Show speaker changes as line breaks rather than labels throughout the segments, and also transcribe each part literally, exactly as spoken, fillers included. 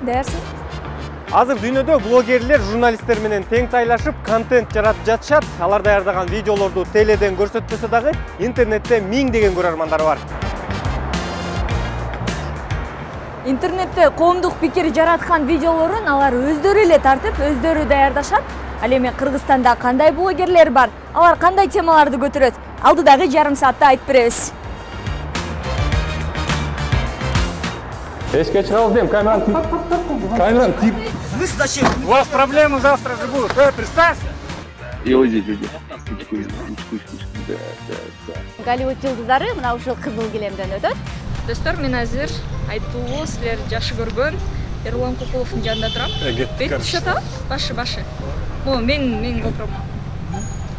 даярсың?
Азыр дүйнөдө блогерлер журналисттер менен тең тайлашып контент жаратып жатышат. Алар даярдаган видеолорду теледен көрсөтпөсө дагы интернетте миңдеген көрөрмандары бар.
Интернетте коомдук пикир жараткан видеолорун алар өздөрү эле тартып, өздөрү даярдашат. Ал эми Кыргызстанда кандай блогерлер бар? Алар кандай темаларды көтөрөт? Алдыдагы жарым саатта айтып беребиз.
Эшке чыгабыз дейм, камераны тип. Камераны тип.
У вас проблемы завтра же будут. Э, представься.
И вот здесь, здесь.
Голливуд жылдыздары мына ушул кызыл килемден өтөт. Достор, мен азыр айтуу силер жакшы көргөн Эрулан Кокуловдун жанында турам. Бет түшөт, башы башы. О, мен мен GoPro'мо.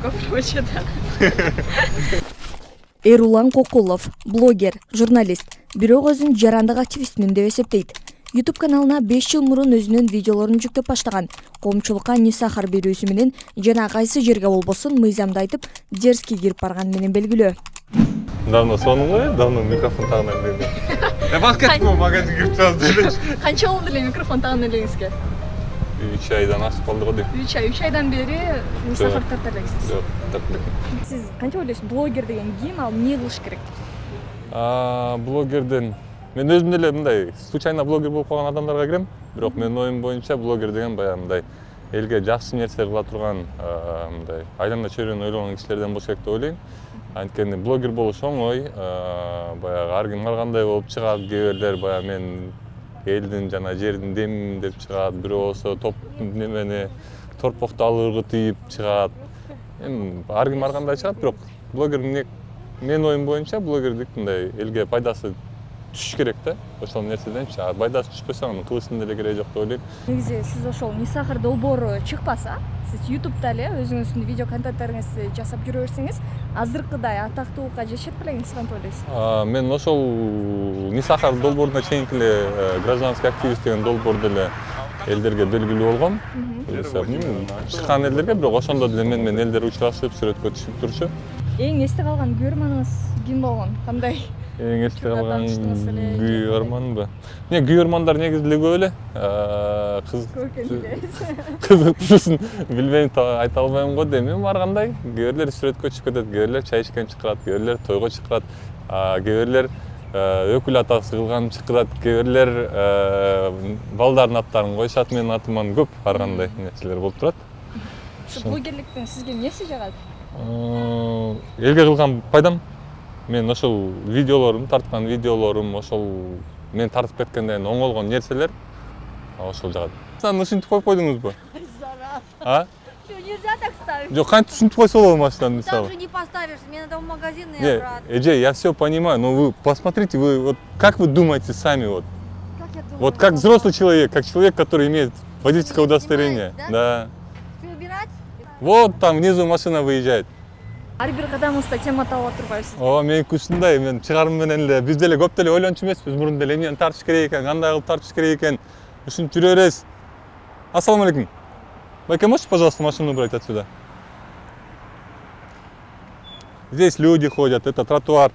GoPro чыда. Эрулан Кокулов, блогер, журналист, бирок өзүн жарандык активистмин деп эсептейт. YouTube каналына беш жыл мурун өзүнүн видеолорун жүктөп баштаган. Коомчулукка не сахар берүүсү менен жана кайсы жерге болбосун мыйзамды айтып, дерзкий кирип барган менен белгилүү.
Давно сонун го, давно микрофон тагына эле.
Э, баскетбол магазинге кирип чыгабыз делечи.
Канча болду эле микрофон тагына элеңизге?
үч айдан ашып калды го дейм.
үч ай, үч айдан бери не сахар тартып элексиз.
Жок, тартып элек.
Сиз канча ойлойсуз, блогер деген ким, ал эмне кылыш керек?
А, блогерден мен өзүм деле мындай случайно блогер болуп калган адамдарга кирем, бирок менин оюм боюнча блогер деген баягы мындай элге жакшы нерсе кыла турган, мындай айлана чөйрөнү ойлогон кишилерден болуш керек деп ойлойм. Анткени блогер болуш оңой, баягы ар ким ар кандай болуп чыгат, кээ бирлер баягы мен элдин жана жердин демимин деп чыгат, бирөө болсо топ немени торпокту алып ыргытып чыгат. Эми ар ким ар кандай чыгат, бирок блогер менин оюм боюнча блогерлик мындай элге пайдасы түшүш керек да. Ошол нерседенчи, пайдасы түшпөсө анын кылыштын деле кереги жок деп ойлойм.
Негизи сиз ошол не сахар долбоору чыкпаса, сиз YouTube'да эле өзүңүздүн видео контенттериңизди жасап жүрө берсеңиз, азыркыдай атактуулукка жетишет белеңиз, кантип ойлойсуз?
Мен ошол не сахар долбооруна чейинки эле гражданский активист деген долбоорду эле элдерге белгилүү болгом. Чыккан элдерге, бирок ошондо деле мен менен элдер учурашып, сүрөткө түшүп турчу.
Эң эсте калган күйөрманыңыз ким болгон? Кандай?
Эң эсте калган күйөрманбы? Не, күйөрмандар негизи эле көп эле. Кыз кызыктуусун билбейм, айта албайм го дейм. Эми ар кандай. Кээ бирлер сүрөткө чыгып кетет, кээ бирлер чай ичкен чыкырат, кээ бирлер тойго чыкырат, кээ бирлер өкүл атасы кылган чыкырат, кээ бирлер балдардын аттарын коюшат, менин атыман көп ар кандай нерселер болуп турат.
Ушу блогерликтен сизге эмнеси жагат?
Элге кылган пайдам. Мен ошол видеолорум, тарткан видеолорум, ошол мен тартып кеткенден оңолгон нерселер ошол жагат. Сен ушинтип коюп койдуңузбу? А?
Нельзя так ставить.
Жок, кантип ушинтип койсо болот машинаны, мисалы.
Так же не поставишь, мне надо в магазин и обратно.
Эже, я все понимаю, но вы посмотрите, вы вот как вы думаете сами вот?
Как я думаю?
Вот как взрослый человек, как человек, который имеет водительское удостоверение. Да?
Да. Убирать?
Вот там внизу машина выезжает.
Ар бир кадамыңызда тема таап турбайсыз.
О, меники ушундай, мен чыгарым менен эле биз деле көп деле ойлончу эмеспиз, мурун деле эмнени тартыш керек экен, кандай кылып тартыш керек экен. Ушинтип жүрө беребиз. Ассаламу алейкум. Байке, можете, пожалуйста, машину убрать отсюда? Здесь люди ходят, это тротуар.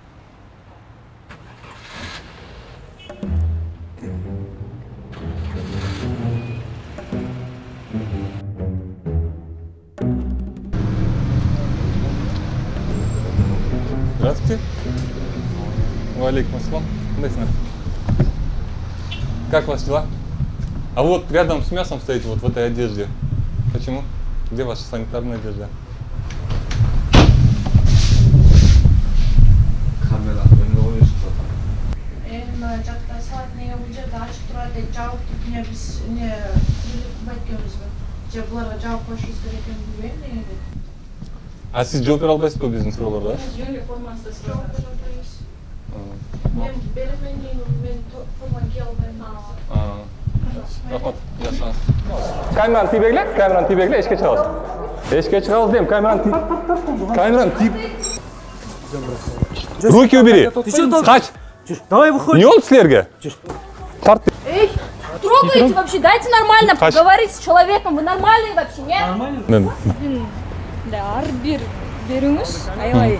Здравствуйте. Валейкум ассалам. Как ваши дела? А вот рядом с мясом стоите, вот в этой одежде. Почему? Где ваша санитарная одежда?
Камера, не oynuyorsun zaten. Çakta saat neye bulacak da açık durar değil. Cevap tutmuyor biz ne bekliyoruz mu? Cevaplara cevap koşuyoruz gereken bilmeyin neydi?
А siz жооп бере албайсызбы биздин суроолорго?
Жөнү формасында жооп бере албайбыз. Мен беремен мен форма кие албайм.
Рахмат, жакшы. Камераны тийбегиле, камераны тийбегиле, эшикке чыгабыз. Эшикке чыгабыз дейм, камераны тийп. Камераны тийп. Руки убери. Кач.
Давай выходи.
Не болду силерге?
Эй, трогайте вообще, дайте нормально поговорить с человеком. Вы нормальный вообще, нет?
Нормально.
Да, ар бир берүүңүз, аябай.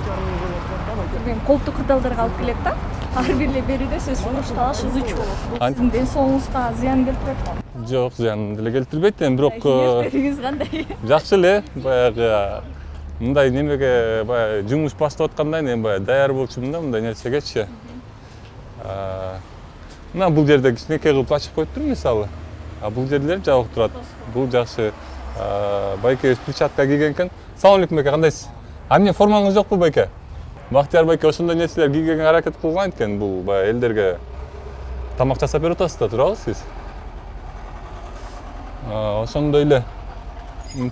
Мен колтук кырдаалдарга алып келет да. ар бир эле берүүдө сөз уруш талаш ызычуу болот. Бул сиздин ден соолугуңузга зыян келтирет го?
Жок, зыян деле келтирбейт, эми бирок
Кеңештериңиз кандай?
жакшы эле. Баягы мындай немеге баягы жумуш баштап атканда эми баягы даяр болчумун да мындай нерсегечи. Мына бул жерде кичинекей кылып ачып коюп туруп мисалы. А бул жерлер жабык турат. Бул жакшы. Байке перчатка кийген экен. Салам алейкум байке, кандайсыз? А эмне формаңыз жокпу байке? Бактияр байке ошондой нерселер кийгенге аракет кылган экен. Бул баягы элдерге тамак жасап берип атасыз да, турабы сиз? Ошондой эле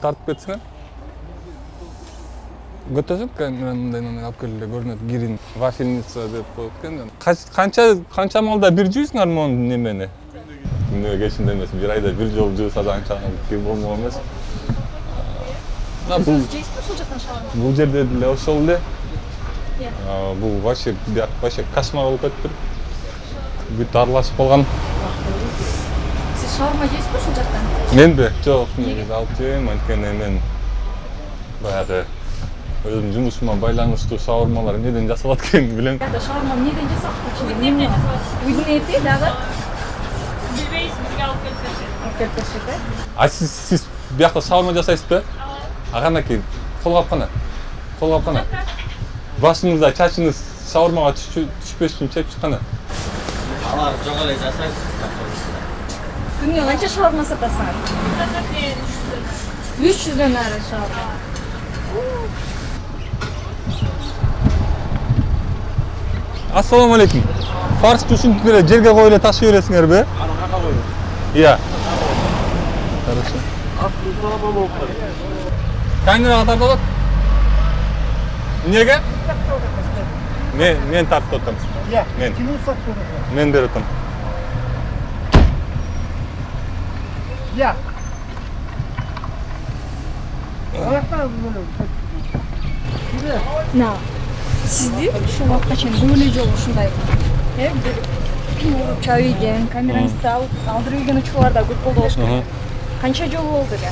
тартып кетсиңер. Көтөсөк камерамды мындай алып келип көрүнөт, гирин вафельница деп коюп экен. Канча канча малда бир жуйсуңар мону немени? Күнүгө кечинде эмес, бир айда бир жолу жууса да анча кир болмок эмес. Бул жейсизби ушул жактан шалам? Бул жерде деле ошол эле. Бул вообще бияк вообще кошмар болуп кетиптир. Бүт аралашып калган.
Сиз шаурма жейсизби ушул жактан?
Менби? Жок, негизи алып жейм, анткени мен баягы өзүм жумушума байланыштуу шаурмалар эмнеден жасалат экенин билем.
Шаурма эмнеден жасалат? Эмне? Уйдун эти дагы?
Билбейсиз, бизге алып келип беришет.
Алып келип беришет, э?
А сиз сиз биякта шаурма жасайсызбы? А кандайкы? Колго алып кана. Колго алып кана. Башыңызда чачыңыз шаурмага түшпөш үчүн чечип чыкканы.
Алар жок эле жасайт.
Күнүгө канча шаурма сатасыңар? үч жүздөн ары шаурма.
Ассаламу алейкум. Фарс түшүнүп эле жерге коюп эле ташый бересиңерби?
Аны кака коюп?
Иә. Хорошо.
Автоуправа болуп калды.
Камерага тартып атат? Эмнеге? Мен мен тартып атам.
Иә.
Мен.
Ким сатып атат?
Мен берип атам.
Иә.
На. Сизди ушул убакытка чейин көп эле жолу ушундай э бир уруп чабып ийген, камераңызды алып алдырып ийген учурлар да көп болду болуш керек. Канча жолу болду эле?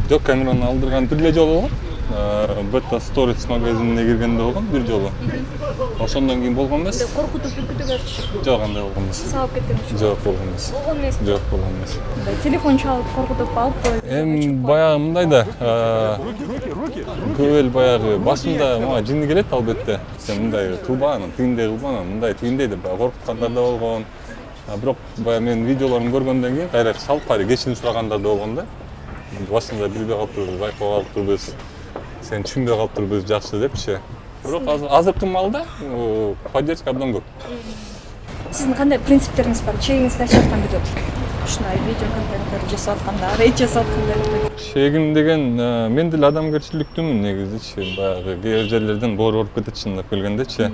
Жок, камераны алдырган бир эле жолу болгон. Бета Stories магазинине киргенде болгон бир жолу. Ошондон кийин болгон эмес.
Коркутуп үркүтүп атышып.
Жок, андай болгон эмес.
Сабап кеткен учур.
Жок, болгон эмес.
Болгон эмес.
Жок, болгон эмес.
Телефон чалып коркутуп алып коюп.
Эми баягы мындай да, көп эл баягы башында мага жини келет албетте. Сен мындай кылбаң, тигиндей кылбаң, мындай тигиндей деп баягы коркуткандар да болгон. Бирок баягы менин видеолорумду көргөндөн кийин кайра салып кайра кечирим сурагандар да болгон да. Башында билбей калыптырбыз, байкабай калыптырбыз. Сен түшүнбөй калыптырбыз жакшы депчи. Бирок азыркы маалда поддержка абдан көп.
Сиздин кандай принциптериңиз бар? Чегиңизди айтып аткан видео. Ушундай видео контенттер жасап атканда, рейд жасап атканда.
Чегим деген мен деле адамгерчиликтүүмүн негизичи. Баягы кээ бир жерлерден боор болуп кетет чындап келгендечи.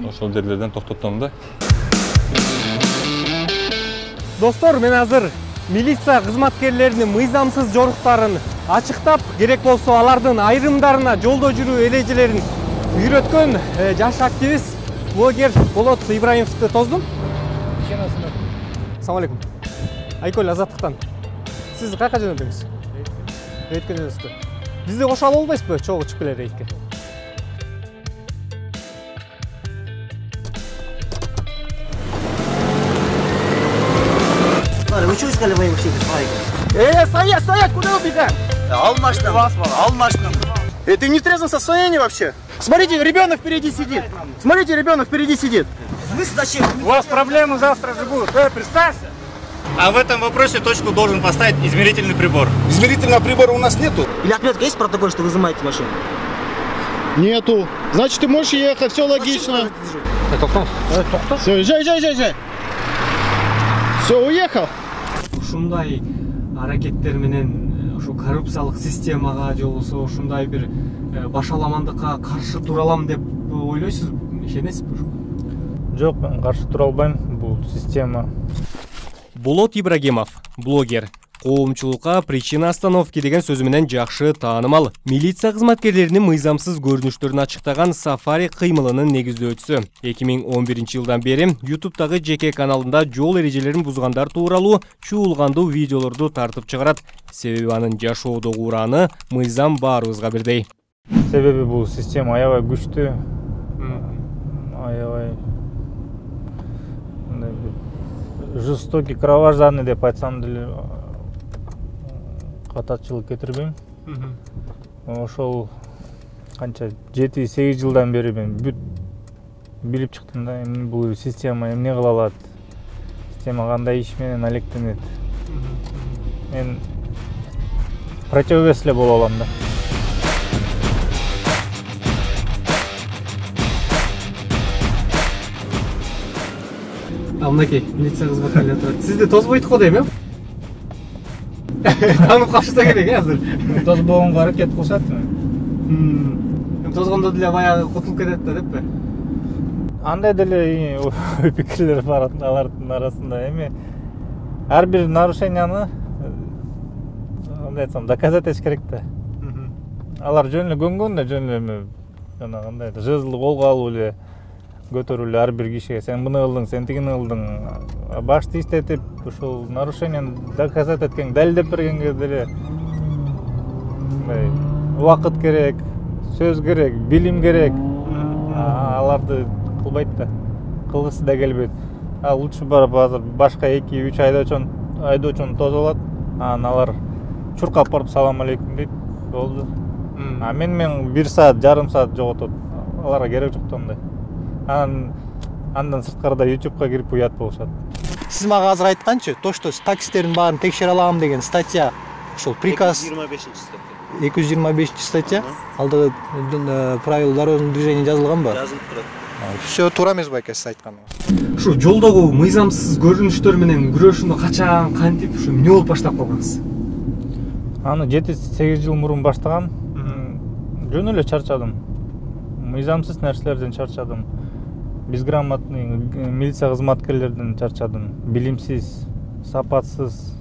Ошол жерлерден токтотом да.
Достор, мен азыр милиция кызматкерлеринин мыйзамсыз жоруктарын ачыктап, керек болсо алардын айрымдарына жолдо жүрүү эрежелерин үйрөткөн жаш активист, блогер Болот Ибраимовду тоздум. Assalamu alaikum. Айкөл Азаттыктан. Сиз кайка жөнөдүңүз? Рейдке жөнөдүңүз. Бизди кошо ала албайсызбы? Чогуу чыгып келе рейдке.
Вы что искали мои машины?
Э, стоять, стоять, куда убегать?
Ал машину. Ал машину.
Э, ты не в трезвом состоянии вообще? Смотрите, ребенок впереди сидит. Смотрите, ребенок впереди сидит.
Вы зачем?
У вас проблемы завтра же будут. Э, представься.
А в этом вопросе точку должен поставить измерительный прибор.
Измерительного прибора у нас нету.
Или отметка есть протокол, что вы изымаете машину?
Нету. Значит, ты можешь ехать, все логично. Все, езжай, езжай, езжай, езжай. Все, уехал.
Ушундай аракеттер менен ушу коррупциялык системага же болбосо ушундай бир башаламандыкка каршы тура алам деп ойлойсузбу? Ишенесизби?
Жок, мен каршы тура албайм. Бул система.
Болот Ибрагимов, блогер. Коомчулукка причина остановки деген сөзү менен жакшы таанымал. Милиция кызматкерлеринин мыйзамсыз көрүнүштөрүн ачыктаган Сафари кыймылынын негиздөөчүсү. эки миң он биринчи жылдан бери ютубтагы жеке каналында жол эрежелерин бузгандар тууралуу чуулгандуу видеолорду тартып чыгарат. Себеби анын жашоодогу ураны мыйзам баарыбызга бирдей.
Себеби бул система аябай күчтүү. Аябай жестокий, кровожадный деп айтсам деле катачылык кетирбейм. Ошол канча жети сегиз жылдан бери мен бүт билип чыктым да, эми бул система эмне кыла алат, система кандай иш менен алектенет. Мен противовес эле боло алам да.
А мынакей милиция кызматкерлери турат. Сизди тозбойт го дейм, э? Танып калышса керек э азыр.
Тозбогонго аракет кылышат.
Эми тозгондо деле баягы кутулуп кетет да деппи?
Андай деле ой пикирлер бар алардын арасында. Эми ар бир нарушенияны кандай айтсам доказать этиш керек да. Алар жөн эле көнгөн да, жөн эле жана кандай жезлди колго алып эле көтөрүп эле ар бир кишиге сен муну кылдың, сен тигини кылдың, башты иштетип ушул нарушенияны доказать эткен, далилдеп бергенге деле мындай убакыт керек, сөз керек, билим керек. Аларды кылбайт да, кылгысы да келбейт. А лучше барып азыр башка эки үч айдоочун айдоочуну тосуп алат, анан алар чуркап барып салам алейкум дейт, болду. А мен мен бир саат, жарым саат жоготот. Аларга керек жок да андай. Анан андан сырткарыда ютубка кирип уят болушат.
Сиз мага азыр айтканчы, то что таксистердин баарын текшере алам деген статья, ошол приказ
эки жүз жыйырма бешинчи статья.
эки жүз жыйырма бешинчи статья. Алдыгы правила дорожного движения жазылганбы?
Жазылып турат.
Все туура эмес байке сиз айтканыңыз.
Ушу жолдогу мыйзамсыз көрүнүштөр менен күрөшүүнү качан, кантип, ушу эмне болуп баштап калгансыз?
Аны жети сегиз жыл мурун баштагам. Жөн эле чарчадым. Мыйзамсыз нерселерден чарчадым. Безграмотный милиция кызматкерлерден чарчадым. Билимсиз, сапатсыз.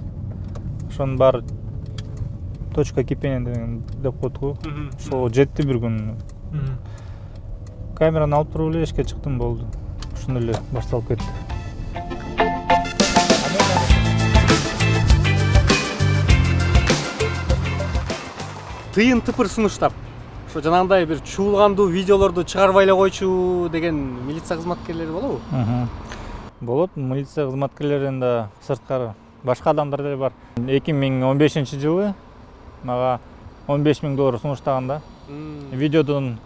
Ошонун баары точка кипения деп коет го. Ошол жетти бир күн. Камераны алып туруп эле эшикке чыктым, болду. Ошондой эле башталып кетти.
Тыйын тыпыр сунуштап, ошо жанагындай бир чуулгандуу видеолорду чыгарбай эле койчу деген милиция кызматкерлери болобу?
Болот, милиция кызматкерлеринен да сырткары башка адамдар деле бар. эки миң он бешинчи жылы мага он беш миң доллар сунуштаган да. Видеодон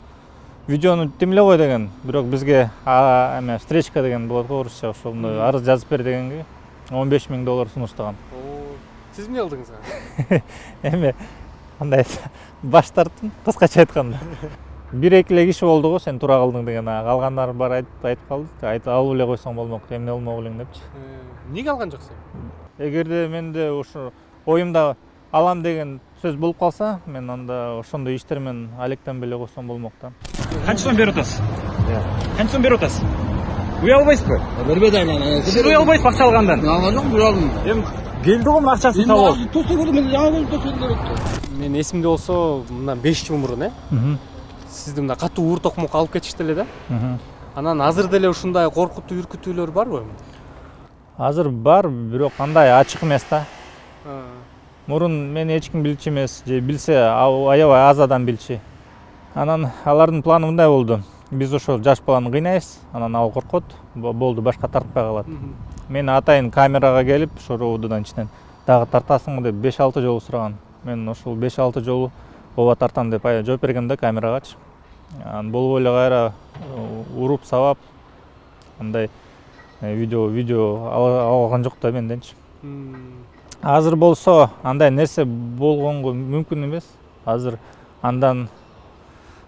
видеону тимле кой деген, бирок бизге эме встречка деген болот го орусча, ошондой арыз жазып бер дегенге он беш миң доллар сунуштаган.
Сиз эмне кылдыңыз?
Эме кандай баш тарттым, кыскача айтканда. Бир эки эле киши болду го, сен туура кылдың деген, калгандар бар айтып айтып калды. Айтып алып эле койсоң болмок, эмне болмок элең депчи.
Эмнеге алган жоксуң?
Эгерде менде ушу оюмда алам деген сөз болуп калса, мен анда ошондой иштер менен алектенбей эле койсом болмок да.
Канча сом берип атасыз? Канча сом берип атасыз? Уя албайсызбы?
Бербейт айлана.
Сиз уя албайсыз акча алгандан.
Алган жок, алдым.
Эми келди го мына акчасын табып.
Мен тосо көрдүм, мен жаңы көрдүм, тосо берет.
Мен эсимде болсо, мындан беш жыл мурун, э? Сизди мына катуу уур токмокко алып кетишти эле да. Анан азыр деле ушундай коркутуу, үркүтүүлөр барбы?
Азыр бар, бирок андай ачык эмес да. Мурун мени эч ким билчү эмес, же билсе аябай аз адам билчү. Анан алардын планы мындай болду. Биз ошол жаш баланы кыйнайбыз, анан ал коркот, болду, башка тартпай калат. Мен атайын камерага келип, ошо роудудан ичинен дагы тартасыңбы деп беш алты жолу сураган. Мен ошол беш алты жолу ооба тартам деп жооп бергем да камерагачы. Анан болбой эле кайра уруп сабап андай видео видео алган жок да менденчи. Азыр болсо андай нерсе болгонго мүмкүн эмес. Азыр андан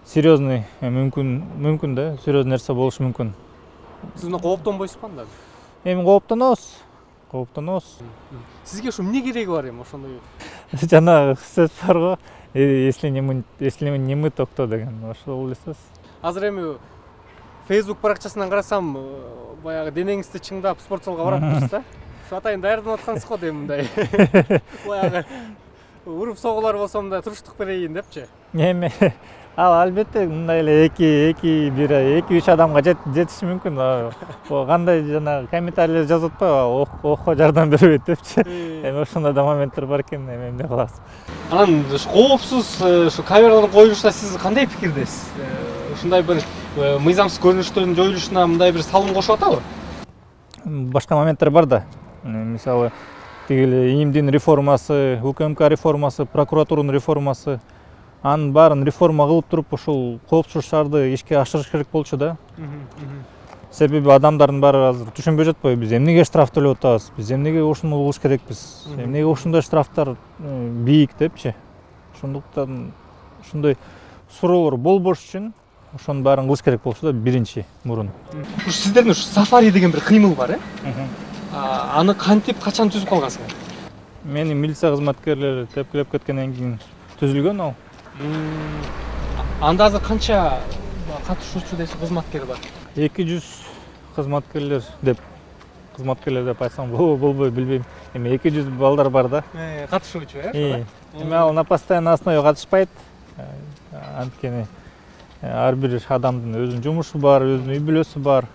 серьезный мүмкүн мүмкүн да, серьезный нерсе болушу мүмкүн.
Сиз мына кооптонбойсузбу анда?
Эми кооптонобуз. Кооптонобуз.
Сизге ушу эмне кереги бар эми ошондой?
Жана сөз бар го, если не мы, если не мы, то кто деген. Ошол эле сөз.
Азыр эми Facebook баракчасынан карасам, баягы денеңизди чыңдап спортзалга баратсыз да? Ушу атайын даярданып аткансыз го дейм мындай. Баягы уруп согулар болсо мындай туруштук берейин депчи.
Эми ал албетте мындай эле эки эки бир эки үч адамга жетиши мүмкүн. Кандай жана комментарийлер жазып атпайбы, окко жардам бербейт депчи. Эми ошондой да моменттер бар экен, эми эмне кыласыз?
Анан коопсуз ушу камералардын коюлушуна сиз кандай пикирдесиз? Ушундай бир мыйзамсыз көрүнүштөрдүн жоюлушуна мындай бир салым кошуп атабы?
Башка моменттер бар да. Мисалы, тигил ИИМдин реформасы, УКМК реформасы, прокуратуранын реформасы, анын баарын реформа кылып туруп ушул коопсуздук шаарды ишке ашырыш керек болчу да. Себеби адамдардын баары азыр түшүнбөй жатпайбы, биз эмнеге штраф төлөп атабыз, биз эмнеге ушуну кылыш керекпиз, эмнеге ушундай штрафтар бийик депчи. Ошондуктан ушундай суроолор болбош үчүн ошонун баарын кылыш керек болчу да биринчи мурун.
Ушу сиздердин ушу сафари деген бир кыймыл бар, э? Аны кантип, качан түзүп калгансыңар?
Мени милиция кызматкерлери тепкилеп кеткенден кийин түзүлгөн ал.
Анда азыр канча катышуучу десе кызматкер бар?
эки жүз кызматкерлер деп кызматкерлер деп айтсам болбой билбейм. Эми эки жүз балдар бар да.
Э, катышуучу, э?
Эми ал на постоянный основе катышпайт. Анткени ар бир адамдын өзүнүн жумушу бар, өзүнүн үй бүлөсү бар.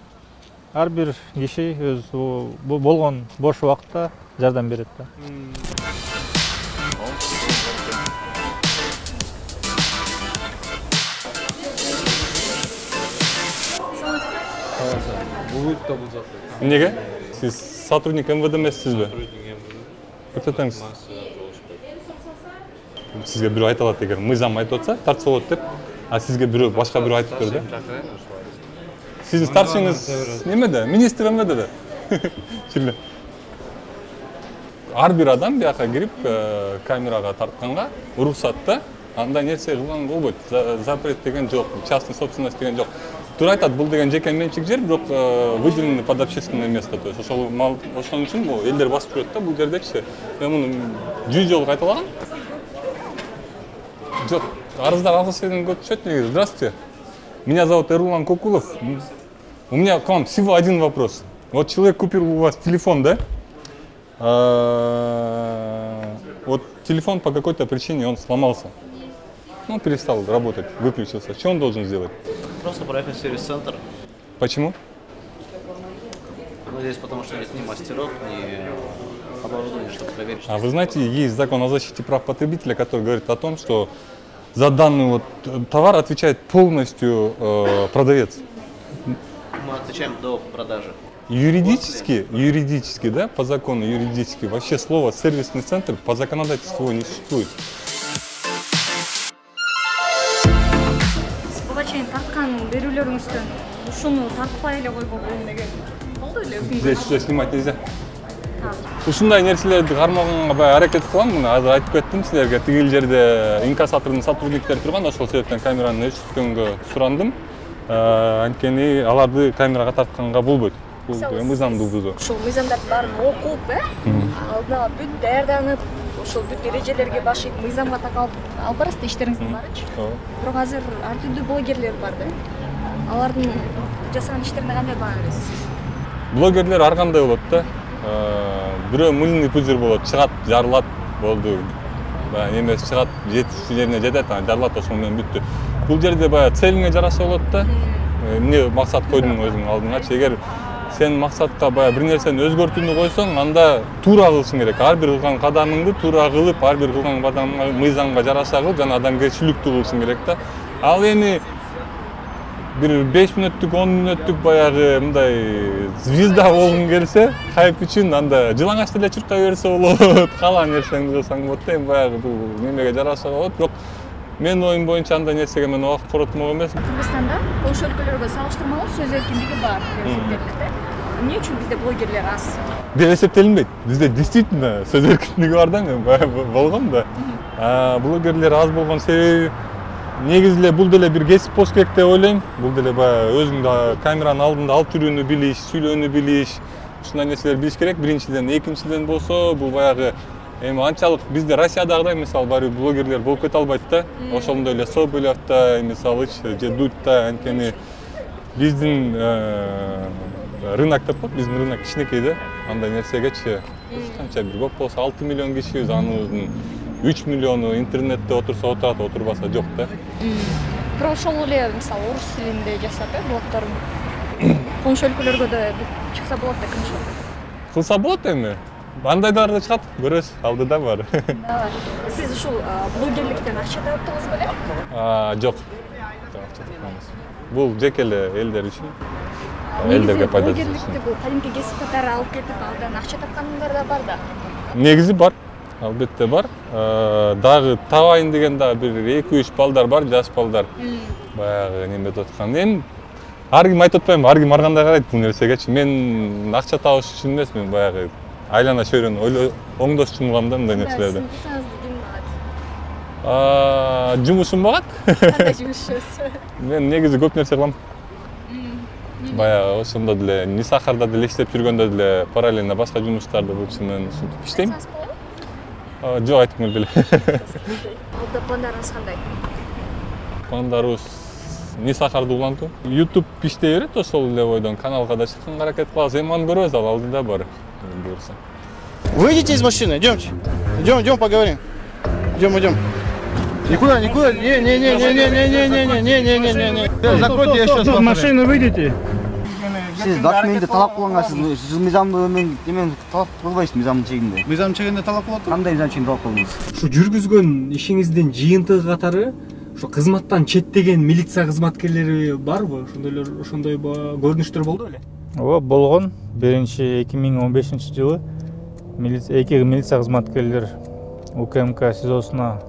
Ар бир киши өз болгон бош убакытта жардам берет да.
Эмнеге? Сиз сотрудник МВД эмессизби? Көрсөтөңүз. Сизге бирөө айта алат эгер мыйзам айтып атса, тартса болот деп, а сизге бирөө башка бирөө айтып берди. Сиздин старшыңыз немеде? Министр МВДде. Чиле. Ар бир адам бияка кирип камерага тартканга уруксатта андай нерсе кылган болбойт. Запрет деген жок, частный собственность деген жок. Туура айтат, бул деген жеке менчик жер, бирок выделенный под общественное место. То есть ошол ошон үчүн бул элдер басып жүрөт да, бул жердечи. Мен муну жүз жолу кайталагам. Жок, арыздар алгыс деген көп түшөт негизи. Здравствуйте. Меня зовут Эрлан Кокулов. У меня к вам всего один вопрос. Вот человек купил у вас телефон, да? Вот телефон по какой-то причине он сломался. Он перестал работать, выключился. Что он должен сделать?
Просто проехать в сервис-центр.
Почему?
Ну, здесь потому что нет ни мастеров, ни оборудования, чтобы проверить.
А вы знаете, есть закон о защите прав потребителя, который говорит о том, что за данный вот товар отвечает полностью э, продавец.
Мы отвечаем до продажи.
Юридически, юридически, да, по закону юридически, вообще слово сервисный центр по законодательству не существует.
Тарткан берүүлөрүңүздөн ушуну тартпай эле койгон деген болду эле.
Здесь все снимать нельзя. Ушундай нерселерди кармаганга баягы аракет кылам, муну азыр айтып кеттим силерге. Тигил жерде инкассатордун сотрудниктери турган, ошол себептен камераны өчүрткөнгө сурандым. Анткени аларды камерага тартканга болбойт. Бул мыйзамды бузуу.
Ушул мыйзамдарды баарын окуп, э? Алдына бүт даярданып, ошол бүт эрежелерге башып, мыйзамга такалып алып барасыздар иштериңиздин баарычы. Бирок азыр ар түрдүү блогерлер бар да. Алардын жасаган иштерине кандай баа бересиз?
Блогерлер ар кандай болот да. Бирөө мыльный пузырь болот, чыгат, жарылат, болду. Баягы эмес чыгат, жетишүү жерине жетет, жарылат, ошол менен бүттү. Бул жерде баягы целиңе жараса болот да. Эмне максат койдуң өзүңдүн алдыңачы? Эгер сен максатка баягы бир нерсени өзгөртүүнү койсоң, анда туура кылышың керек. Ар бир кылган кадамыңды туура кылып, ар бир кылган кадамыңа мыйзамга жараша кылып, жана адамгерчиликтүү кылышың керек да. Ал эми бир беш мүнөттүк, он мүнөттүк баягы мындай звезда болгуң келсе, хайп үчүн анда жылаңач деле чуркай берсе болот, каалаган нерсеңди кылсаң болот да. Эми баягы бул немеге жараша болот, бирок менин оюм боюнча андай нерсеге мен убакыт коротмок эмес.
Кыргызстанда коңшу өлкөлөргө салыштырмалуу сөз эркиндиги бар деп эсептелинет. Эмне үчүн бизде блогерлер аз?
Деп эсептелинбейт. Бизде действительно сөз эркиндиги бар да, болгон да. Блогерлер аз болгон себеби негизи эле бул деле бир кесип болуш керек деп ойлойм. Бул деле баягы өзүң камеранын алдында алып жүрүүнү билиш, сүйлөөнү билиш, ушундай нерселерди билиш керек. Биринчиден, экинчиден болсо бул баягы эми анчалык бизде Россиядагыдай мисалы бар блогерлер болуп кете албайт да. Ошондой эле Соболевта, мисалычы, же Дудьта, анткени биздин рынок деп коет, биздин рынок кичинекей да. Андай нерсегечи канча бир көп болсо алты миллион кишибиз, аныбыздын үч миллиону интернетте отурса отурат, отурбаса жок да.
Бирок ошол эле мисалы орус тилинде жасап, э, блогдорун коңшу өлкөлөргө да чыкса болот да, кымшы.
Кылса болот эми. Андайдар да чыгат, көрөсүз, алдыда бар.
Сиз ушул блогерликтен акча таптыңыз беле?
Жок. Бул жеке эле элдер үчүн. элдерге пайдасы тишсин.
Блогерликти бул кадимки кесип катары алып кетип, алдан акча тапкандар да бар да.
Негизи бар. Албетте бар. Дагы табайын деген дагы бир эки үч балдар бар, жаш балдар. Баягы неметип аткан. Эми ар ким айтып атпайм, ар ким ар кандай карайт бул нерсегечи. Мен акча табыш үчүн эмес, мен баягы айлана чөйрөнү оңдош үчүн кылам да мындай нерселерди. Жумушум багат.
Кандай жумушсуз?
Мен негизи көп нерсе кылам. Баягы ошондо деле Нисахарда деле иштеп жүргөндө деле параллельно башка жумуштарды болчу мен ушинтип иштейм. Жок, айтып келбейли.
Алда пландарыңыз кандай?
Пландарыбыз Нисахарды улантуу. YouTube иштей берет, ошол эле бойдон каналга да чыкканга аракет кылабыз. Эми аны көрөбүз, ал алдыда бар. Буюрса.
Выйдите из машины, идемте. Идем, идем, поговорим. Идем, идем. Никуда, никуда. Не, не, не, не, не, не, не, не, не, не, не, не, не. Закройте, я сейчас.
Из машины выйдете.
Сиз документти талап кылгансыз, сиз мыйзамды мен демен талап кылбайсыз мыйзамдын чегинде.
Мыйзамдын чегинде талап кылып атат?
Кандай мыйзам чегинде талап кылдыңыз?
Ушу жүргүзгөн ишиңиздин жыйынтыгы катары ушу кызматтан четтеген милиция кызматкерлери барбы? Ошондойлор ошондой көрүнүштөр болду беле?
Ооба, болгон. Биринчи эки миң он бешинчи жылы эки милиция кызматкерлер УКМК СИЗОсуна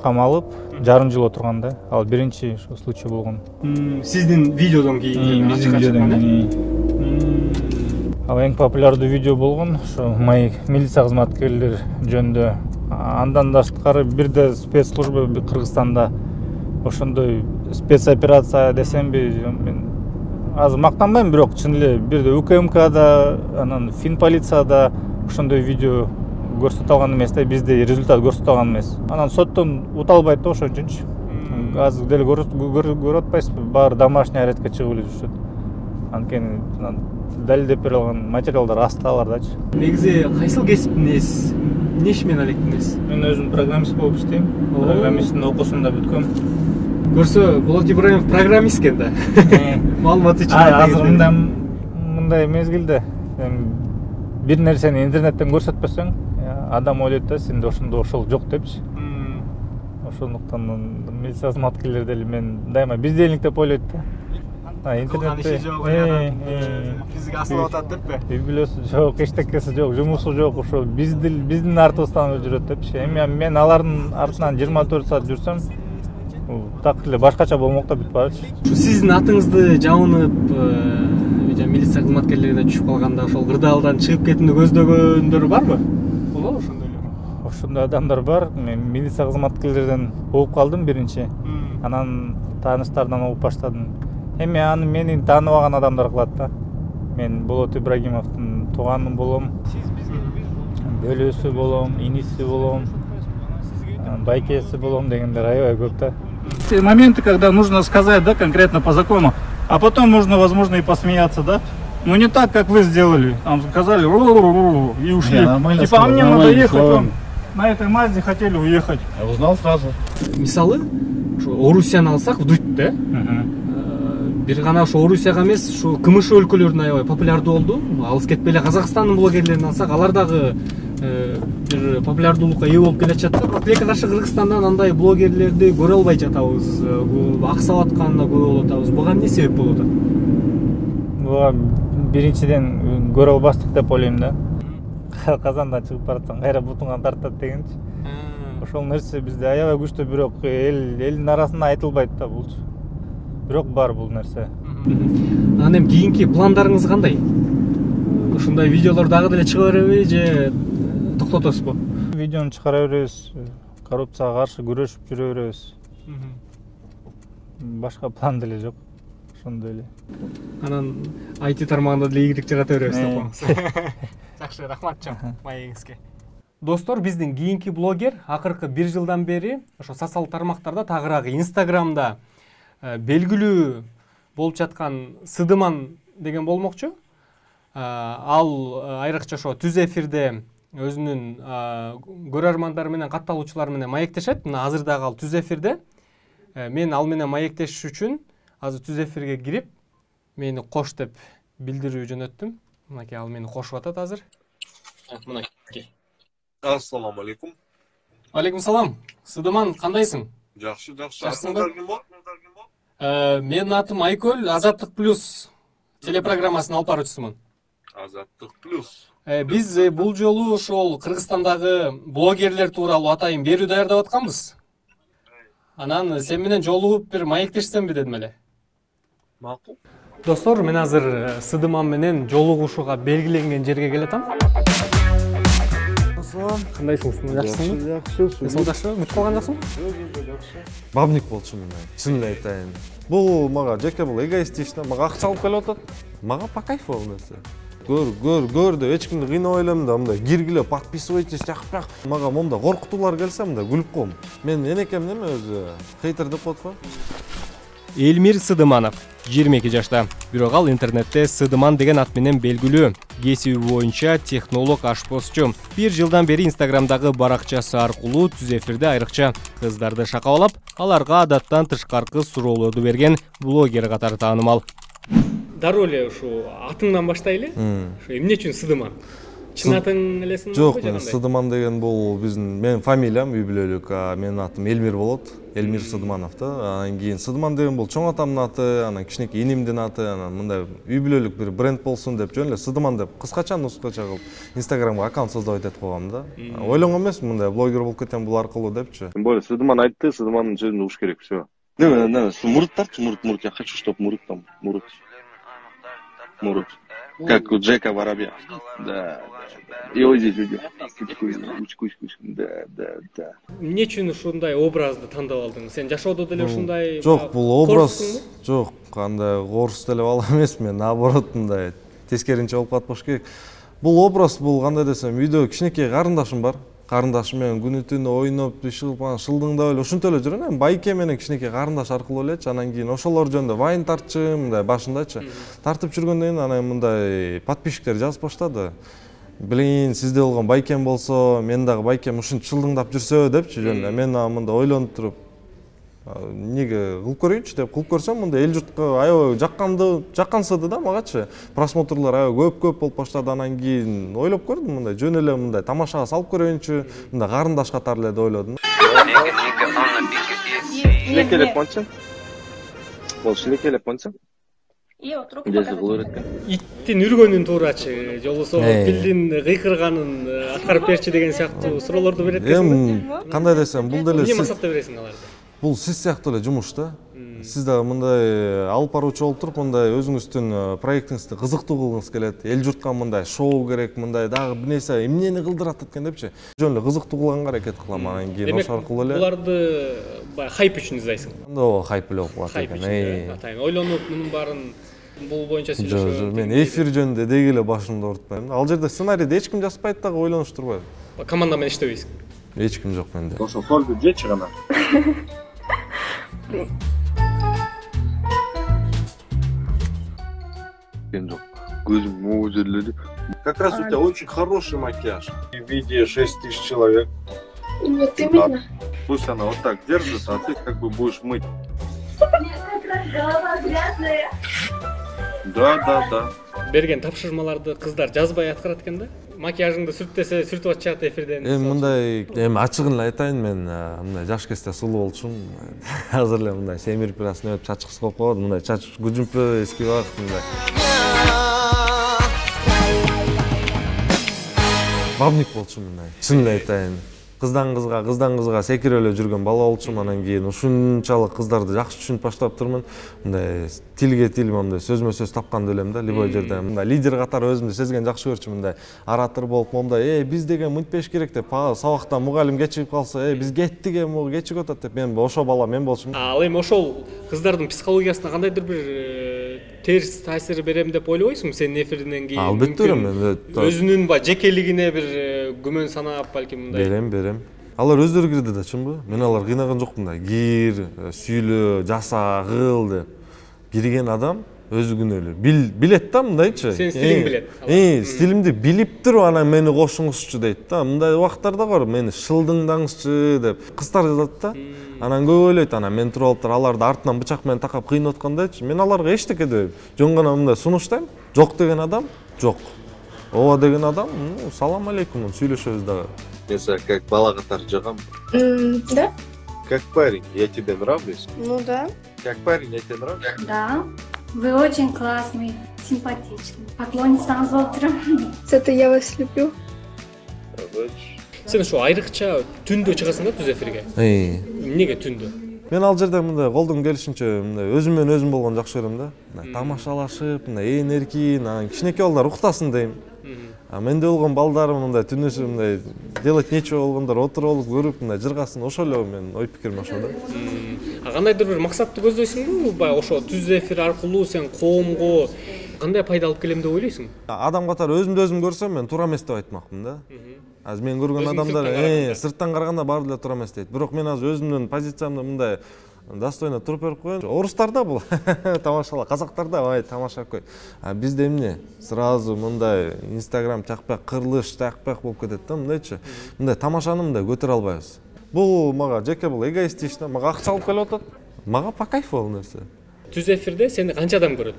камалып, жарым жыл отурганда, ал биринчи ошо случай болгон.
Сиздин видеодон кийин
биздин видеодон кийин. Ал эң популярдуу видео болгон, ошо мои милиция кызматкерлер жөнүндө. Андан тышкары бир да спецслужба Кыргызстанда ошондой спецоперация десемби, мен азыр мактанбайм, бирок чын эле бир да УКМКда, анан Фин полицияда ошондой видео көрсөтө алган эмес да, бизде результат көрсөтө алган эмес. Анан соттон уталбайт да ошон үчүнчү. Азыр деле көрүп атпайсызбы, баары домашний арестке чыгып эле жүрүшөт. Анткени далилдеп бере алган материалдар асталардачы.
Негизи кайсыл кесиптин ээсиз? Эмне иш менен алектинесиз?
Мен өзүм программист болуп иштейм. Программисттин окуусун да бүткөм.
Көрсө, Болот Ибраимов программист экен да. Маалымат үчүн.
Азыр мындай мындай мезгилде бир нерсени интернеттен көрсөтпөсөң, адам ойлойт да сенде ошондо ошол жок депчи. Ошондуктан милиция кызматкерлери деле мен дайыма биздейлик деп ойлойт да. Интернетте
бизге асылып атат деппи?
Үй бүлөсү жок, эчтекеси жок, жумушу жок, ошо биздин артыбыздан жүрөт депчи. Эми мен алардын артынан жыйырма төрт саат жүрсөм, так эле башкача болмок да бүт барчы.
Сиздин атыңызды жабынып, милиция кызматкерлерине түшүп калганда ошол кырдаалдан чыгып кетүүнү көздөгөндөр барбы? Болобу ошондойлор?
Ошондой адамдар бар. Мен милиция кызматкерлеринен угуп калдым биринчи. Анан тааныштардан угуп баштадым. Эми аны мени тааныбаган адамдар кылат да. Мен Болот Ибрагимовдун тууганы болом. Бөлөсү болом, иниси болом, байкеси болом дегендер аябай көп да.
Те моменты, когда нужно сказать, да, конкретно по закону, а потом можно, возможно, и посмеяться, да? Ну не так, как вы сделали. Там сказали и ушли. Типа, а мне надо ехать, вам на этой Мазде хотели уехать.
Я узнал сразу.
Мисалы, Орусияны алсак, вдуть, да? Бир гана ошо Орусияга эмес, ушу КМШ өлкөлөрүнө аябай популярдуу болду. Алыс кетпей эле Казакстандын блогерлерин алсак, алар дагы бир популярдуулукка ээ болуп келе жатат. Бирок тилекке каршы Кыргызстандан андай блогерлерди көрө албай жатабыз. Аксап атканына күбө болуп атабыз. Буга эмне себеп болуп атат?
Буга биринчиден көрө албастык деп ойлойм да. Казандан чыгып баратсаң кайра бутуңан тартат дегенчи. Ошол нерсе бизде аябай күчтүү, бирок эл элдин арасында айтылбайт да булчу. Бирок бар бул нерсе.
Анан эми кийинки пландарыңыз кандай? Ушундай видеолор дагы деле чыга береби же токтотосузбу?
Видеону чыгара беребиз, коррупцияга каршы күрөшүп жүрө беребиз. Башка план деле жок. Ошондой эле.
Анан ай ти тармагында деле ийгилик жарата беребиз деп коебуз. Жакшы, рахмат жан маегиңизге. Достор, биздин кийинки блогер акыркы бир жылдан бери ошо социалдык тармактарда, тагыраагы Инстаграмда белгилүү болуп жаткан Сыдыман деген болмокчу. Ал айрыкча ошо түз эфирде өзүнүн көрөрмандары менен, катталуучулары менен маектешет. Мына азыр дагы ал түз эфирде. Мен ал менен маектешиш үчүн азыр түз эфирге кирип, мени кош деп билдирүү жөнөттүм. Мынакей ал мени кошуп атат азыр. Мынакей.
Ассаламу алейкум.
Алейкум салам. Сыдыман, кандайсың?
Жакшы, жакшы.
Менин атым Айкөл, Азаттык плюс
телепрограммасынын алып баруучусумун.
Азаттык плюс.
Биз бул жолу ошол Кыргызстандагы блогерлер тууралуу атайын берүү даярдап атканбыз. Анан сен менен жолугуп бир маектешсемби дедим эле.
Макул.
Достор, мен азыр Сыдыман менен жолугушууга белгиленген жерге келатам. Кандайсың? Жакшысыңбы?
Жакшы.
Саудашыбы? Бүтүп калган жоксуңбу?
Жок, жакшы.
Бабник болчумун мен. Чынын айтайын. Бул мага жеке бул эгоистично, мага акча алып келип атат. Мага по кайфу бул нерсе. Көр, көр, көр деп эч кимди кыйнабай элем да, мындай киргиле, подписывайтесь, жакпак. Мага монда коркутуулар келсе мындай күлүп коем. Мен энекем неме өзү хейтер деп коет го.
Элмир Сыдыманов жыйырма эки жашта. Бирок ал интернетте Сыдыман деген ат менен белгилүү. Кесиби боюнча технолог ашпозчу. Бир жылдан бери Инстаграмдагы баракчасы аркылуу түз эфирде айрыкча кыздарды шакалап, аларга адаттан тышкаркы суроолорду берген блогер катары таанымал.
Дароо эле ушу атыңдан баштайлы. Ушу эмне үчүн Сыдыман? Чын атың элесиңби?
Жок, Сыдыман деген бул биздин менин фамилиям үй бүлөлүк, менин атым Элмир болот. Элмир Сыдыманов да. Анан кийин Сыдыман деген бул чоң атамдын аты, анан кичинекей инимдин аты, анан мындай үй бүлөлүк бир бренд болсун деп жөн эле Сыдыман деп кыскача нускача кылып Инстаграмга аккаунт создоп этип койгом да. Ойлонгон эмесмин мындай блогер болуп кетем бул аркылуу депчи.
Тем более Сыдыман айтты, Сыдымандын сөзүн угуш керек, всё. Не, не, мурыттарчы, мурыт, мурыт, я хочу, чтобы мурыт там, мурыт. Мурыт. Как у Джека Воробья. Да. И вот здесь видео. Да, да, да.
Эмне үчүн ушундай образды тандап алдың? Сен жашоодо деле ушундай
жок, бул образ жок, кандай орус деле бала эмесмин, наоборот мындай тескеринче болуп катпаш керек. Бул образ бул кандай десем, үйдө кичинекей карындашым бар. Карындашым менен күнү түнү ойноп, иш кылып, шылдыңдап эле ушинтип эле жүрөм. Эми байке менен кичинекей карындаш аркылуу элечи, анан кийин ошолор жөнүндө вайн тартчы, мындай башындачы. Тартып жүргөндөн кийин анан мындай подписчиктер жазып баштады. Блин, сизде болгон байкем болсо, мен дагы байкем ушинтип шылдыңдап жүрсө депчи жөн эле. Мен мындай ойлонуп туруп, неге кылып көрөйүнчү деп кылып көрсөм, мындай эл журтка аябай жакканды, жаккансыды да магачы. Просмотрлар аябай көп-көп болуп баштады. Анан кийин ойлоп көрдүм, мындай жөн эле мындай тамашага салып көрөйүнчү, мындай карындаш катары эле деп ойлодум.
Шилекелеп койчу. Бол шилекелеп койчу.
Иттин үргөнүн туурачы, жолусо пилдин кыйкырганын аткарып берчи деген сыяктуу суроолорду берет экенсиң.
Эми кандай десем, бул деле
эмне максатта бересиң аларды?
Бул сиз сыяктуу эле жумуш да. Сиз дагы мындай алып баруучу болуп туруп, мындай өзүңүздүн проектиңизди кызыктуу кылгыңыз келет. Эл журтка мындай шоу керек, мындай дагы бир нерсе эмнени кылдырат экен депчи. Жөн эле кызыктуу кылганга аракет кылам. Анан кийин ошол аркылуу эле.
Буларды баягы хайп үчүн издайсың.
Ооба, хайп эле болуп калат экен.
Атайын ойлонуп, мунун баарын бул боюнча сүйлөшөбүз.
Жок, мен эфир жөнүндө деги эле башымды оорутпайм. Ал жерде сценарийди эч ким жазбайт дагы, ойлонуштурбайбы?
Команда менен иштебейсиң?
Эч ким жок менде.
Ошо сольду жечи гана. Жок. Көзүм могу жерлери. Как раз у тебя очень хороший макияж. В виде шесть тысяч человек.
Нет, именно.
Пусть она вот так держит, а ты как бы будешь мыть.
Голова грязная.
Да, да, да.
Берген тапшырмаларды кыздар жазбай аткарат экен да? Макияжыңды сүртпесе сүртүп атышат эфирден.
Эми мындай, эми ачыгын эле айтайын, мен мындай жаш кезде сулуу болчумун. Азыр эле мындай семирип бир асын өтүп чачкысы болуп калат. Мындай чач күжүмпө эски убакыт мындай. Бабник болчумун мындай. Чын эле айтайын. Кыздан кызга, кыздан кызга секирип эле жүргөн бала болчумун. Анан кийин ушунчалык кыздарды жакшы түшүнүп баштап турмун. Мындай тилге тил, мындай сөзмө сөз тапкан элем да, любой жерде. Мындай лидер катары өзүмдү сезген жакшы көрчүмүн. Мындай оратор болуп, мындай, "Эй, биз деген мынтпеш керек" деп, сабактан мугалим кечигип калса, "Эй, биз кеттик эми, могу кечигип атат" деп, мен ошо бала мен болчумун.
Ал эми ошол кыздардын психологиясына кандайдыр бир терс таасир берем деп ойлобойсуңбу сенин эфиринен кийин?
Албетте берем.
Өзүнүн ба жекелигине бир күмөн санап, балким мындай.
Берем, берем. Алар өздөрү кирди да, чынбы? Мен алар кыйнаган жокмун да. Кир, сүйлө, жаса, кыл деп. Кирген адам өзү күнөөлүү. Бил, билет да мындайчы.
Сен стилиң билет.
Э, стилимди билип туруп анан мени кошуңузчу дейт да. Мындай убактарда бар, мени шылдыңдаңызчы деп. Кыздар жазат да. Анан көп ойлойт, анан мен туруп алыптыр, аларды артынан бычак менен такап кыйнап аткандайчы. Мен аларга эчтеке дебейм. Жөн гана мындай сунуштайм. Жок деген адам жок. Ооба деген адам, ну, салам алейкум, сүйлөшөбүз дагы.
Если как бала катары жагам.
Да?
Как парень, я тебе нравлюсь?
Ну да.
Как парень, я тебе нравлюсь?
Да.
Вы очень классный, симпатичный. Поклонницаңыз болуп турам.
Зато я вас люблю.
Сен ушу айрыкча түндө чыгасың да түз эфирге? Эмнеге түндө?
Мен ал жерде мындай колдон келишинче мындай өзүм менен өзүм болгону жакшы көрөм да. Мындай тамашалашып, мындай ээн эркин, анан кичинекей балдар уктасын дейм. А менде болгон балдарым мындай түнүсү мындай делать нечего болгондор отуруп алып көрүп мындай жыргасын, ошол эле менин ой пикирим ошол да.
А кандайдыр бир максатты көздөйсүңбү? Баягы ошо түз эфир аркылуу сен коомго кандай пайда алып келем деп ойлойсуң?
Адам катары өзүмдү өзүм көрсөм мен туура эмес деп айтмакмын да. Азыр мен көргөн адамдар э сырттан караганда баары эле туура эмес дейт. Бирок мен азыр өзүмдүн позициямды мындай достойно туруп берип коеюн. Орустарда бул тамашала, казактарда ай тамашалап кой. А бизде эмне? Сразу мындай Instagram чакпак, кырылыш чакпак болуп кетет да, мындайчы. Мындай тамашаны мындай көтөрө албайбыз. Бул мага жеке бул эгоистично, мага акча алып келип атат. Мага по кайфу бул нерсе.
Түз эфирде сени канча адам көрөт?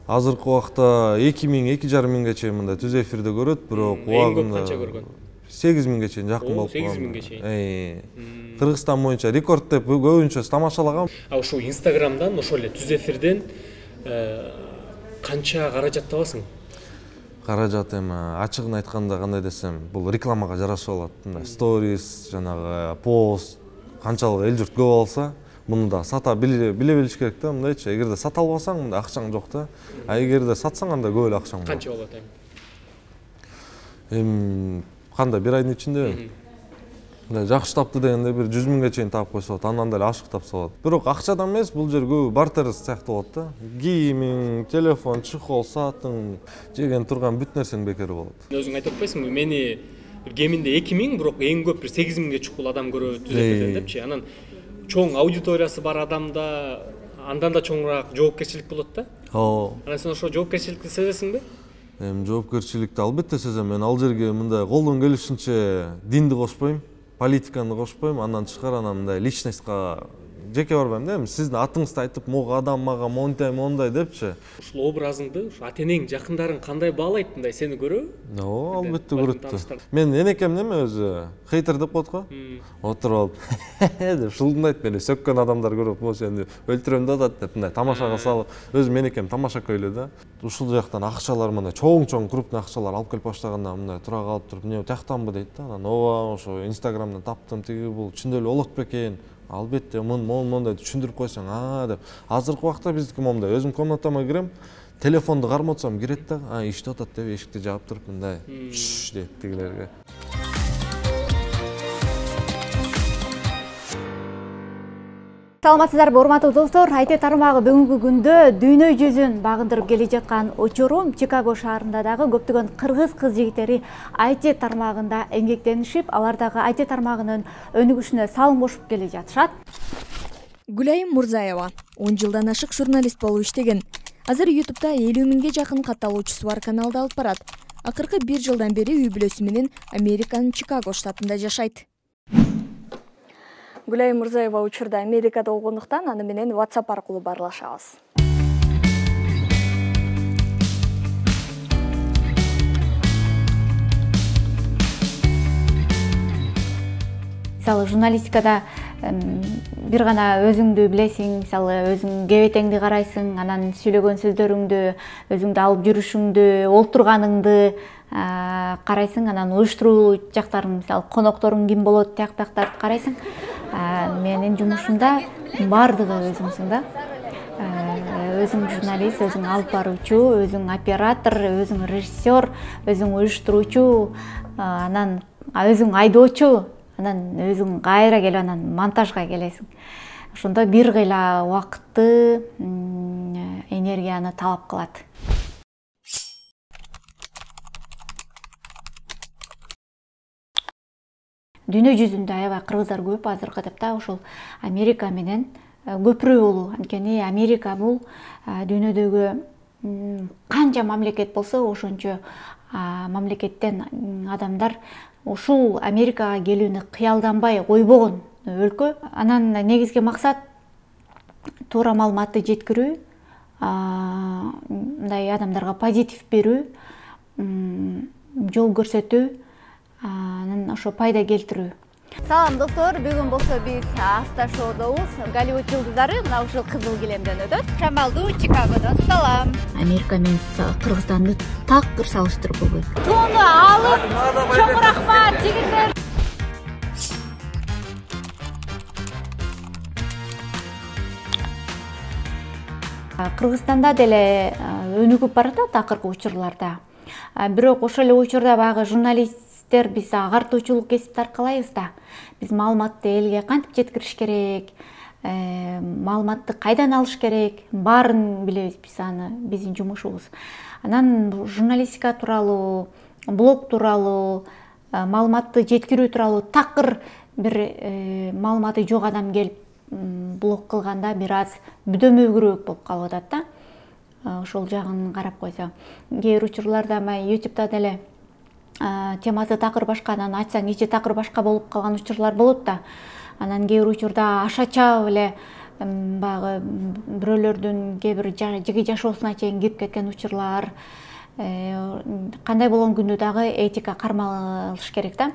Азыркы убакта эки миң, эки жарым миңге чейин мындай түз эфирде көрөт, бирок
убагында канча көргөн?
сегиз миңге чейин жакын болуп
калган. сегиз миңге чейин.
Кыргызстан боюнча рекорд деп көбүнчө тамашалаган.
А ушул Instagramдан, ошол эле түз эфирден канча каражат табасың?
Каражат эми ачыгын айтканда кандай десем, бул рекламага жараша болот. Мындай сторис, жанагы пост канчалык эл журт көп алса, муну да сата биле билиш керек да, мындайчы. Эгерде сата албасаң, мында акчаң жок да. А эгерде сатсаң, анда көп эле акчаң болот.
Канча болот эми?
Эми кандай бир айдын ичинде мындай жакшы тапты дегенде бир жүз миңге чейин таап койсо болот, андан деле ашык тапса болот. Бирок акчадан эмес, бул жер көбү бартер сыяктуу болот да. Кийимиң, телефон, чехол, саатың, жеген турган бүт нерсең бекер болот.
Өзүң айтып атпайсыңбы, мени бир кеминде эки миң, бирок эң көп бир сегиз миңге чукул адам көрөт түз эфирден депчи. Анан чоң аудиториясы бар адамда андан да чоңураак жоопкерчилик болот да.
Ооба.
Анан сен ошо жоопкерчиликти сезесиңби?
Эми жоопкерчиликти албетте сезем. Мен ал жерге мындай колдон келишинче динди кошпойм, политиканы кошпойм, андан тышкары анан мындай личностька жеке барбайм да. Эми сиздин атыңызды айтып, могу адам мага мондай мондай депчи.
Ушул образыңды ушу ата-энең, жакындарың кандай баалайт, мындай сени көрөбү?
Ооба, албетте көрөт. Мен энекем неме өзү хейтер деп коет го. Отуруп алып деп шулдундайт, мени сөккөн адамдар көрүп, "Mo сени өлтүрөм да" деп мындай тамашага салып, өзүм энекем тамашакай эле да. Ушул жактан акчалар мындай чоң-чоң крупный акчалар алып келип баштаганда мындай тура калып туруп, "Эмне тияктанбы" дейт да. Анан ооба, ошо Instagramдан таптым, тиги бул чындап эле болот бекен. Албетте, мондай түшүндүрүп койсоң, "А" деп. Азыркы убакта биздики момундай, өзүм комнатама кирем, телефонду кармотсом кирет да, "А, иштеп атат" деп эшикти жаап туруп мындай "Шш" дейт тигилерге.
Саламатсыздарбы, урматтуу достор? ай ти тармагы бүгүнкү күндө дүйнө жүзүн багындырып келе жаткан учурум Чикаго шаарында дагы көптөгөн кыргыз кыз жигиттери ай ти тармагында эмгектенишип, алар дагы ай ти тармагынын өнүгүшүнө салым кошуп келе жатышат.
Гүлайым Мурзаева он жылдан ашык журналист болуп иштеген. Азыр ютубта элүү миңге жакын катталуучусу бар каналды алып барат. Акыркы бир жылдан бери үй бүлөсү менен Американын Чикаго штатында жашайт. Гүлайым Мурзаева учурда Америкада болгондуктан аны менен WhatsApp аркылуу баарлашабыз.
Мисалы журналистикада бир гана өзүңдү билесиң, мисалы өзүң кебетеңди карайсың, анан сүйлөгөн сөздөрүңдү, өзүңдү алып жүрүшүңдү, олтурганыңды карайсың, анан уюштуруу жактарын, мисалы конокторуң ким болот, тияк-тияктарды карайсың. Менин жумушумда баардыгы өзүңсүң да. Өзүң журналист, өзүң алып баруучу, өзүң оператор, өзүң режиссер, өзүң уюштуруучу, анан өзүң айдоочу, анан өзүң кайра келип анан монтажга келесиң. Ошондо бир кыйла убакытты, энергияны талап кылат. Дүйнө жүзүндө аябай кыргыздар көп азыркы этапта, ошол Америка менен көпүрө болуу. Анткени Америка бул дүйнөдөгү канча мамлекет болсо, ошончо мамлекеттен адамдар ушул Америкага келүүнү кыялданбай койбогон өлкө. Анан негизги максат туура маалыматты жеткирүү, мындай адамдарга позитив берүү, жол көрсөтүү, анан ошо пайда келтирүү. Салам достор, бүгүн болсо биз автошоудобуз. Голливуд жылдыздары мына ушул кызыл килемден өтөт. Шамалдуу Чикагодон салам. Америка менен Кыргызстанды такыр салыштырып болбойт. Туну алып, чоң рахмат жигиттер. Кыргызстанда деле өнүгүп баратат акыркы учурларда. Бирок ошол эле учурда баягы журналисттер биз агартуучулук кесипти аркалайбыз да. Биз маалыматты элге кантип жеткириш керек, маалыматты кайдан алыш керек, баарын билебиз биз, аны биздин жумушубуз. Анан журналистика тууралуу, блог тууралуу, маалыматты жеткирүү тууралуу такыр бир маалыматы жок адам келип блог кылганда бир аз бүдөмөгүрөөк болуп калып атат да. Ошол жагын карап койсо, кээ бир учурларда ютубта деле темасы такыр башка, анан айтсаң ичи такыр башка болуп калган учурлар болот да. Анан кээ бир учурда ашача эле баягы бирөөлөрдүн кээ бир жеке жашоосуна чейин кирип кеткен учурлар. Кандай болгон күндө дагы этика кармалыш керек да.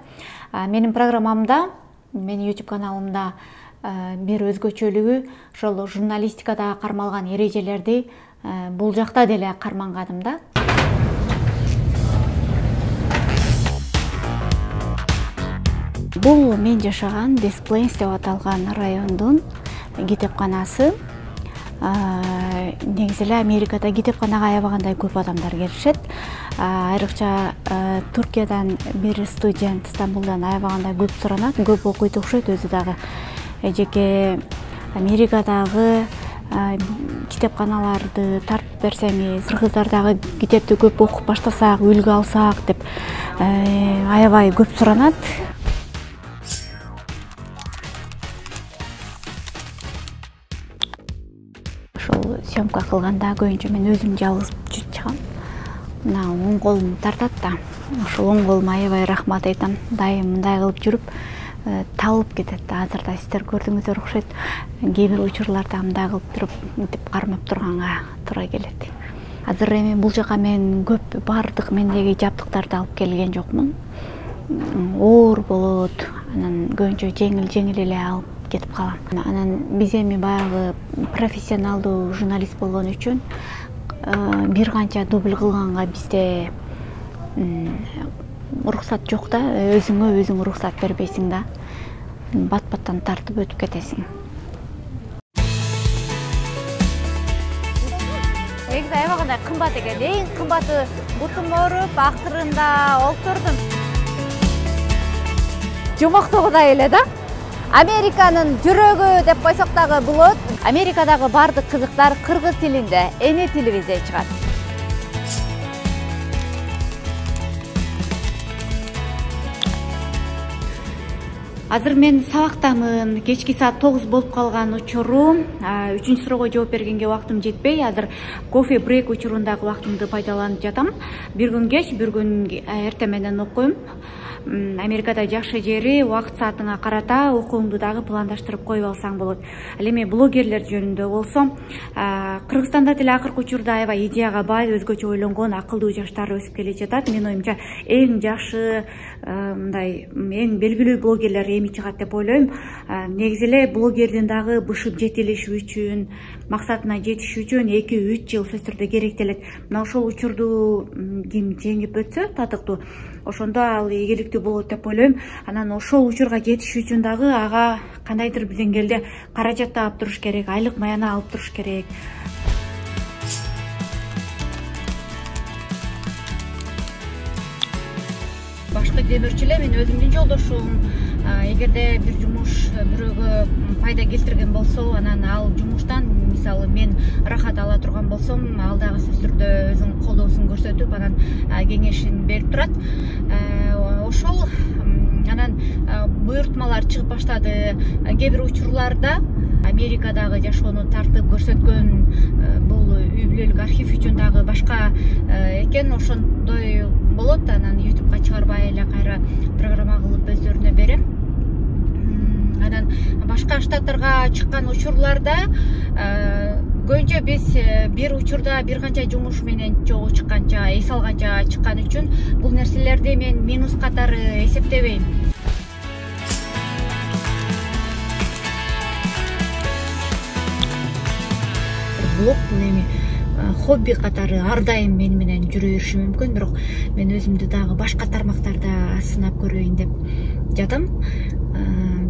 Менин программамда, менин YouTube каналымда бир өзгөчөлүгү ошол журналистикада кармалган эрежелерди бул жакта деле карманганым да. Бул мен жашаган Des Plaines деп аталган райондун китепканасы. Негизи эле Америкада китепканага аябагандай көп адамдар келишет. Айрыкча Туркиядан бир студент, Стамбулдан аябагандай көп суранат, көп окуйт окшойт өзү дагы. Жеке Америкадагы китепканаларды тартып берсеңиз, кыргыздар дагы китепти көп окуп баштасак, үлгү алсак деп аябай көп суранат. Ошол съемка кылганда көбүнчө мен өзүм жалгыз чыгам. Мына оң колум тартат да. Ошол оң колума аябай рахмат айтам. Дайым мындай кылып жүрүп талып кетет да. Азыр да сиздер көрдүңүздөр окшойт. Кээ бир учурларда мындай кылып туруп мынтип кармап турганга туура келет. Азыр эми бул жака мен көп баардык мендеги жабдыктарды алып келген жокмун. Оор болот. Анан көбүнчө жеңил-жеңил эле алып кетип калам. Анан биз эми баягы профессионалдуу журналист болгон үчүн бир канча дубль кылганга бизде уруксат жок да. Өзүңө өзүң уруксат бербейсиң да. Бат-баттан тартып өтүп кетесиң. Негизи аябагандай кымбат экен. Эң кымбаты бутум ооруп, актырында олтурдум. Жомоктогудай эле да. Американын жүрөгү деп койсок дагы болот. Америкадагы бардык кызыктар кыргыз тилинде, эне тилибизде чыгат. Азыр мен сабактамын. Кечки саат тогуз болуп калган учуру. Үчүнчү суроого жооп бергенге убактым жетпей, азыр кофе брейк учурундагы убактымды пайдаланып жатам. Бир күн кеч, бир күн эрте менен окуйм. Америкада жакшы жери убакыт саатыңа карата окууңду дагы пландаштырып коюп алсаң болот. Ал эми блогерлер жөнүндө болсо, Кыргызстанда деле акыркы учурда аябай идеяга бай, өзгөчө ойлонгон акылдуу жаштар өсүп келе жатат. Мен оюмча эң жакшы, мындай эң белгилүү блогерлер эми чыгат деп ойлойм. Негизи эле блогердин дагы бышып жетилиши үчүн, максатына жетиш үчүн эки үч жыл сөзсүз түрдө керектелет. Мына ошол учурду ким жеңип өтсө татыктуу, ошондо ал ийгиликтүү болот деп ойлойм. Анан ошол учурга жетиш үчүн дагы ага кандайдыр бир деңгээлде каражат таап туруш керек, айлык маяна алып туруш керек. Башкы демирчи эле мен өзүмдүн жолдошум, эгерде бир жумуш бирөөгө пайда келтирген болсо, анан ал жумуштан мисалы мен рахат ала турган болсом, ал дагы сөзсүз түрдө өзүнүн колдоосун көрсөтүп, анан кеңешин берип турат. Ошол анан буйртмалар чыгып баштады. Кээ бир учурларда Америкадагы жашоону тартып көрсөткөн бул үй бүлөлүк архив үчүн дагы башка экен, ошондой болот. Анан ютубка чыгарбай эле кайра программа кылып өздөрүнө берем. Анан башка штаттарга чыккан учурларда көбүнчө биз бир учурда бир канча жумуш менен чогуу чыкканча, эс алганча чыккан үчүн бул нерселерди мен минус катары эсептебейм. блог бул эми хобби катары ар дайым мени менен жүрө бериши мүмкүн, бирок мен өзүмдү дагы башка тармактарда сынап көрөйүн деп жатам.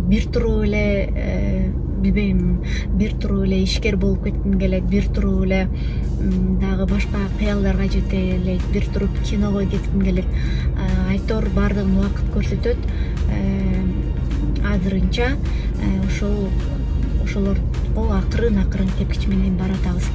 Бир туруу эле билбейм, бир туруу эле ишкер болуп кетким келет, бир туруу эле дагы башка кыялдарга жете элек, бир туруп киного кетким келет. Айтор баардыгын убакыт көрсөтөт. Азырынча ошол ошолорго акырын акырын тепкич менен баратабыз.